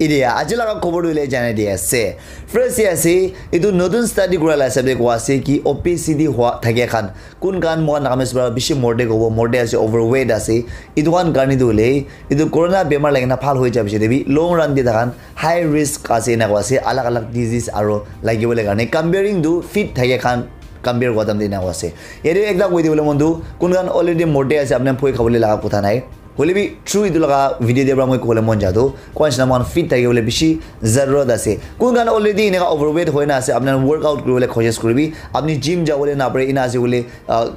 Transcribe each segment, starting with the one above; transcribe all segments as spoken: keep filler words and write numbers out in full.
Etia aji laga khobor tu hoile janai di ase. First te ase, etu notun study kura la hisab te koa ase ki obesity hua thakia khan, kun khan moikhan Nagamese para bishi morde kobo, morde ase, overweight ase. Etu khan karne tu hoile, etu corona bemar lagi na bhal hoi ja piche te bi long run te takhan high risk ase ena koa ase, alag alag disease aro lagi bole karne. Comparing to fit thakia khan compare kura time te ena koa ase. Yate ekta koi dibole mon tu, kun khan already morde ase, apni khan phoi khabole laga kotha nai. Hoile bi true etu laga video te para moi kobole mon ja tu, koa nishina moikhan fit thaki bole bishi zarurat ase. Kun khan already eneka overweight hoi na ase, apni khan workout kuri bole koshish kuri bi, apni gym ja bole na pare, ena ase bole, ah,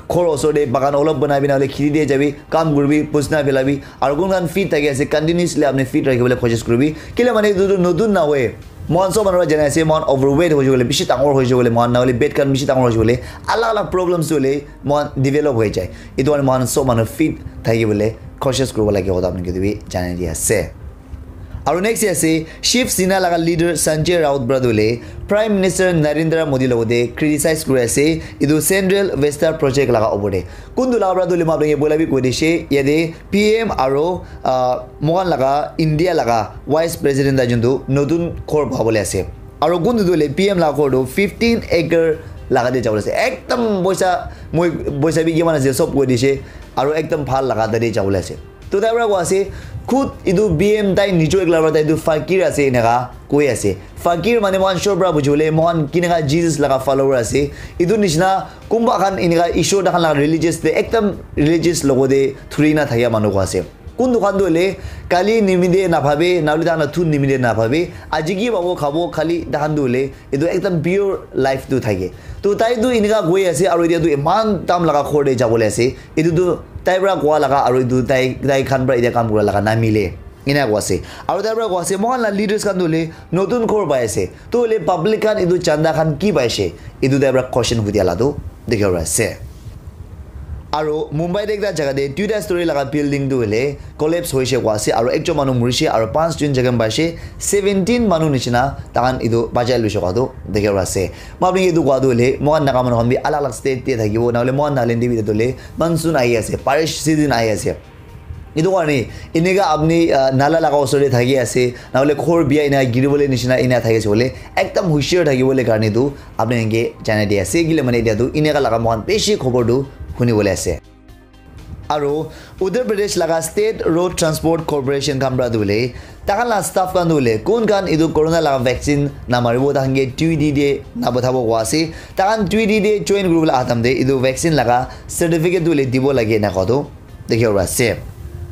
ghor osor te bagan olop banai bi na hoile kheti te ja bi, kam kuri bi, pusna phela bi, aro kun khan fit thaki ase, continuously apni fit rakhi bole koshish kuri bi. Kile mane etu tu notun na hoi. Moikhan sob manu para janai ase, moikhan overweight hoi jabo le, bishi dangor hoi jabo le, moikhan na hole pet khan bishi dangor hoi jabo le, alag alag problems hole moikhan develop hoi jai. Etu karne moikhan sob manu fit thaki bole koshish kuri bo lage, kotha apni ke tu bi janai di ase. Aro next ase, Shiv Sena laga leader Sanjay Raut para tu le Prime Minister Narendra Modi logote criticize kuri ase, etu Central Vista project laga opor te. Kun tu laga para tu le moikhan ke bola bi koi dishe, yate P M aro, ah, moikhan laga India laga Vice President ta juntu notun ghor pabole ase. Aro kuntu tu hoile P M laga ghor tu fifteen acre laga te jabole ase. Ekdam poisa, moi poisa bi kiman ase sob koi dishe. Aro ekdam bhal laga tate jabole ase. To tai para koi ase, khud etu P M tai nijor ekla para tai tu fakir ase eneka koi ase. Fakir mane moikhan sure para buji bole, moikhan keneka Jesus laga follower ase. Etu nishina kunba khan eneka Ishwar takhan laga religious te ekdam religious logote thuri na thakia manu koi ase. Kuntu khan tu hoile kali nimite na bhabe, na hoile takhan la thun nimite na bhabe, aji ki pabo khabo, khali takhan tu hoile etu ekdam pure life tu thake. To tai tu eneka koi ase, aro etia tu eman dam laga ghor te jabole ase. Etu tu tai para koa laga, aro etu tai, tai khan para etia kam kura laga na mile. Ena koi ase. Aro tai para koi ase, moikhan la leaders khan tu hoile notun ghor pai ase. To hoile public khan etu chanda khan ki pai ase? Etu tai para question hudia la tu dikhi ase. Aro Mumbai te ekta jaga te duita story laga building tu hoile collapse hoise koi ase, aro ekjon manu murishe, aro panch jon jakham paise, seventeen manu nishina takhan etu bachai loise koi tu dikhi ase. Moi apni ke etu koi tu hoile, moikhan Naga manu khan bi alag alag state te thakibo, na hoile moikhan Nagaland te bi etu hoile monsoon ahi ase, barish season ahi ase. Etu karne eneka apni, ah, nala laga osor te thaki ase, na hoile ghor bia ena giri bole nishina ena thaki ase bole, ekdam hushiyar thaki bole karne tu apni khan ke janai di ase. Kile mane etia tu eneka laga moikhan bishi khobor tu huni bole ase. Aro Uttar Pradesh laga State Road Transport Corporation khan para tu hoile, takhan la staff khan tu hoile, kun khan etu corona laga vaccine na maribo, takhan ke duty te na pathabo koi ase. Takhan duty te join kuri bole aha time te etu vaccine laga certificate tu hoile dibo lage ena koi tu dikhi ase.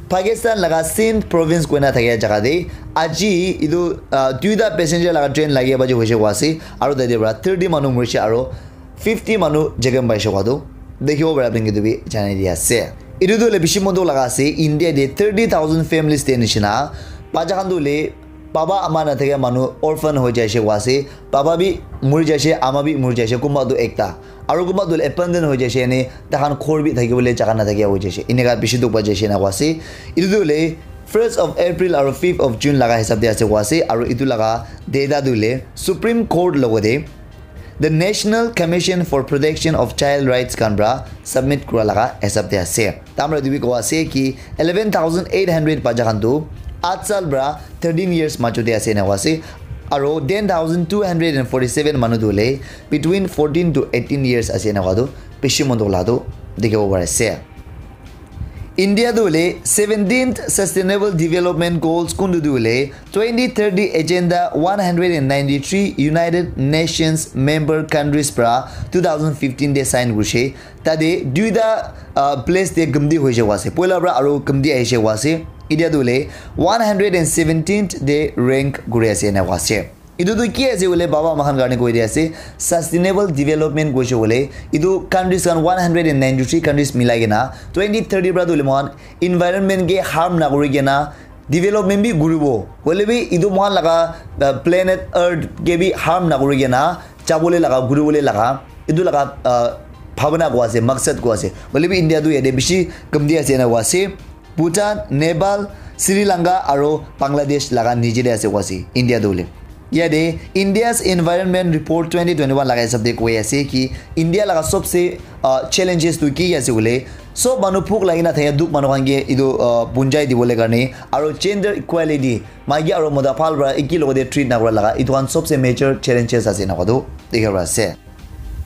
Pakistan laga Sindh province koina thakia jaga te aji etu, ah, duita passenger laga train lagi baji hoise koi ase, aro tate para thirty manu murishe aro fifty manu jakham paise koi tu dikhibo para apni ke tu bi janai di ase. Etu tu hoile bishi mon dukh laga ase, India te thirty thousand families te nishina bacha khan tu hoile baba ama na thakia manu orphan hoi jaise koi ase, baba bi muri jaise, ama bi muri jaise, kunba tu ekta. Aro kunba tu hoile abandon hoi jaise, ene takhan ghor bi thaki bole jaga na thakia hoi jaise. Eneka bishi dukh pai jaise ena koi ase. Etu tu hoile first of April aro fifth of June laga hisab te ase koi ase. Aro etu laga data tu hoile Supreme Court logote The National Commission for Protection of Child Rights khan para submit kura laga hisab te ase. Tamra dibi koi ase ki eleven thousand eight hundred bacha khan tu eight sal para thirteen years majo te ase ena koi ase. Aro ten thousand two hundred and forty-seven manu tu hoile between fourteen to eighteen years ase ena koi tu bishi mon dukh la tu dikhibo pari ase. India tu hoile seventeenth Sustainable Development Goals kuntu tu hoile twenty thirty Agenda one hundred and ninety-three United Nations member countries para two thousand fifteen te sign kurishe. Tate duita, ah, place te gumti hoise koi ase. Poila para aru gumti ahise koi ase. Etia tu hoile one hundred and seventeenth te rank kuri ase ena koi ase. Etu tu ki ase hoile baba ama khan karne koi dia ase, sustainable development koise hoile etu countries khan one hundred and ninety-three countries milai kena twenty thirty para tu hoile moikhan environment ke harm na kuri kena development bi kuribo. Hoile bi etu moikhan laga, ah, planet earth ke bi harm na kuri kena jabole laga, kuribole laga, etu laga, ah, bhabana koi ase, maksad koi ase. Hoile bi India tu yate bishi gumti ase ena koi ase. Bhutan, Nepal, Sri Lanka aru Bangladesh laga niche te ase koi ase India tu hoile. Yate India's Environment Report twenty twenty-one laga hisab te koi ase ki India laga sobse, ah, challenges tu ki ase hoile Sob manu phuk lagi na thaya duk manu khan ke etu uh, punjai dibole karne aro gender equality maiki aro mota phal para eki logode treat na kura laga etu khan sobse major challenges ase na kodu dikhi para ase.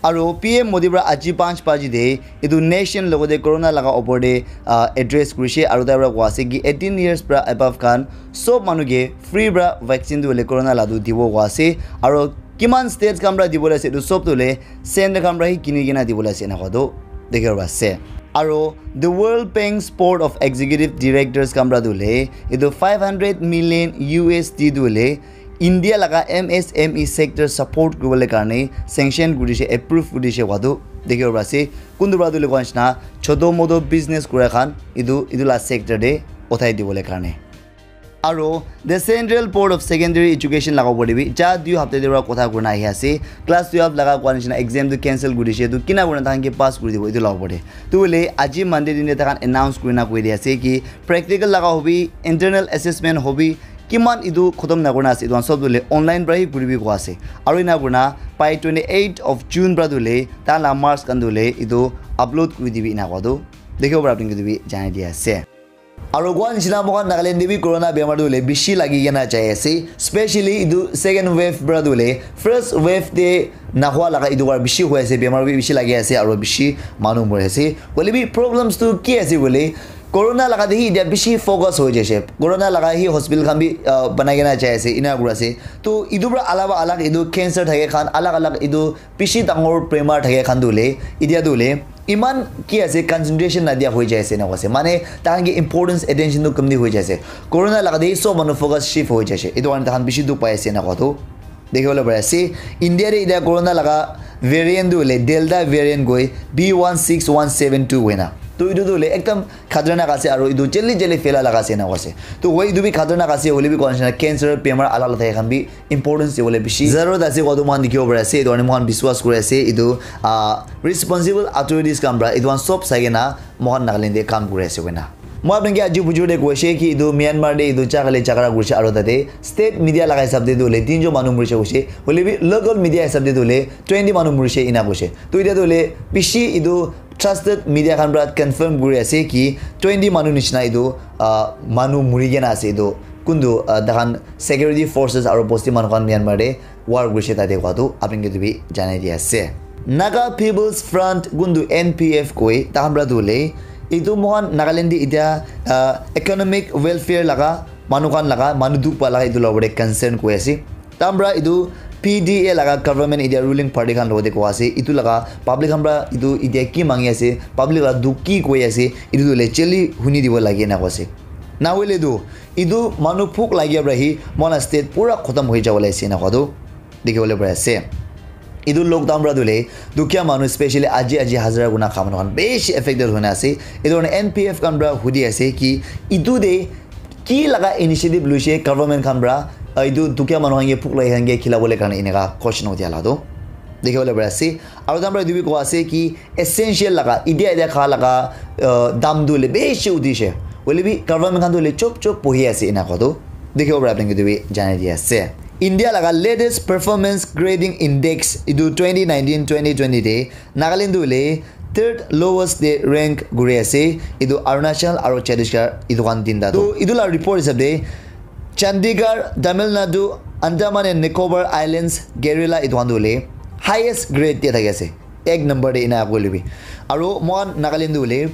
Aro P M Modi para aji panch baji de etu nation logode corona laga opor de uh, address kurishe aro tai para koa ase ki eighteen years para above khan sob manu ke free para vaccine tu le corona la tu dibo koa ase aro kiman states khan para dibole ase etu sob tu le center khan para hi kini kena dibole ase na kodu dikhi para ase. Aro the World Bank's Board of Executive Directors khan para tu le etu five hundred million U S D tu le India laga M S M E sector support kuribole karne sanction kurishe approve kurishe wadu dikhibo pari ase. Kuntu para tu lukhan nishina choto moto business kura khan etu etu la sector te uthai dibole karne. Aro the Central Board of Secondary Education laga opor te bi ja dui hapta te para kotha kurina ahi ase. Class twelve laga kua nishina exam tu cancel kurishe tu kina kurina tahan ke pass kuri dibo etu laga opor te. Tu hoile aji Monday din te tahan announce kurina koi di ase ki practical laga hobi, internal assessment hobi, kiman etu khotom na kurina ase etu khan sob tu hoile online para hi kuribi koi ase. Aro ena kurina by twenty eight of June para tu hoile tahan la marks khan tu hoile etu upload kuri dibi ena koi tu dikhibo para apni khan ke tu bi janai di ase. Aro kua nishina moikhan Nagaland te bi corona bemar tu hoile bishi lagi kena jai ase, specially etu second wave para tu hoile first wave te nahua laga etu para bishi hoi ase, bemar bi bishi lagi ase aro bishi manu mori ase. Hoile bi problems tu ki ase koile corona laga te hi etia bishi focus hoi jaise. Corona laga hi hospital khan bi uh, banai kena jai ase, ena kuri ase. To etu para alaba alag etu cancer thake khan alag alag etu bishi dangor bemar thake khan tu hoile etia tu hoile iman ki ase concentration na dia hoi jai ase na ase. Mane tahan ke importance attention tu kamti hoi jai ase. Corona laga te sob manu focus shift hoi jai ase. Etu karne tahan bishi dukh pai ase na koa tu. Dikhibo le pari ase India te etia corona laga variant tu hoile Delta variant koi B one six one seven two hoina. To etu tu hoile ekdam khatarnak ase aro etu jali jali phaila laga ase na ase. To hoi etu bi khatarnak ase hoile bi koi nishina cancer bemar alag alag thake khan bi importance dibole bishi zarurat ase koa tu moikhan dikhibo pari ase. Etu karne moikhan biswas kuri ase etu ah, responsible authorities khan para etu khan sob sai kena moikhan Nagaland te kam kuri ase koina. Moi apni ke aji bujur te koise ki etu Myanmar te etu jagale jagara kurise aro tate state media laga hisab te tu hoile tinjon manu murise koise. Hoile bi local media hisab te tu hoile twenty manu murise ena koise. To etia tu hoile bishi etu trusted media khan para confirm kuri ase ki twenty manu nishina etu ah, manu muri kena ase etu kuntu ah, tahan security forces aro bosti manu khan Myanmar te war kurise tate koa tu apni ke tu bi janai di ase. Naga People's Front kuntu N P F koi tahan para tu hoile etu moikhan Nagaland te etia ah, economic welfare laga manu khan laga manu dukh pa laga etu la opor te concern koi ase. Tahan para etu P D A laga government etia ruling party khan logote koa ase etu laga public khan para etu etia ki mangi ase, public laga dukh ki koi ase, etu tu hoile jali huni dibo lage na koa ase. Na hoile tu etu manu phuk lagia para hi moikhan la state pura khotom hoi jabo le ase na koa tu dikhibo le pari ase. Etu lockdown para tu hoile dukhia manu specially aji aji hazara kurina kha manu khan bishi affected hoina ase. Etu karne N P F khan para hudi ase ki etu te ki laga initiative luise government khan para ah, etu dukhia manu khan ke phuk lagi khan ke khilabole karne eneka question uthia la tu dikhibo le pari ase. Aro tahan para etu bi koa ase ki essential laga etia etia kha laga ah, dam tu hoile bishi uthise. Hoile bi government khan tu hoile chop chop bohi ase ena koa tu dikhibo para apni ke tu bi janai di ase. India laga latest performance grading index etu twenty nineteen twenty twenty te Nagaland tu hoile third lowest te rank kuri ase. Etu Arunachal aro Chhattisgarh etu khan tinta tu etu la report hisab te Chandigarh, Tamil Nadu, Andaman and Nicobar Islands, Kerala etu khan tu hoile highest grade te thaki ase. Ek number te ena koi lebi. Aro moikhan Nagaland tu hoile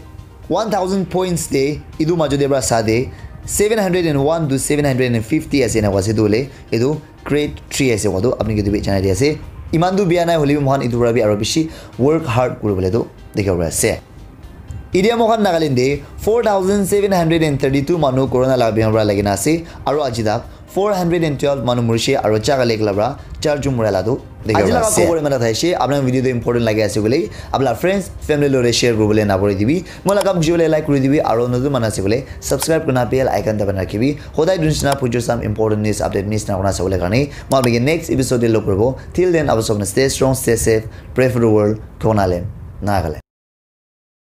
one thousand points te etu majo te para sa te seven hundred and one to seven hundred and fifty ase na koa ase tu hoile etu grade three ase koa tu apni ke tu bi janai di ase. Iman tu bia nai hoile bi moikhan etu para bi aro bishi work hard kuribole tu dikhibo pari ase. Etia moikhan Nagaland te four thousand seven hundred and thirty two manu corona laga bemar para lagi na ase aro aji tak four hundred and twelve manu murise aro jaga lek la para char jon mura la tu dikhibo pari ase. Aji laga khobor iman ta thaise. Apni video tu important lagi ase koile apni la friends family lore share kuribole na pori dibi. Moi laga video le like kuri dibi aro notun manu ase koile subscribe kurina bell icon dabai na rakhibi. Hodai dunishna pujo sam important news update miss na kurina sabole karne. Moi apni ke next episode te log kuribo. Till then, apni sob stay strong, stay safe, pray for the world, Konaland, Nagaland.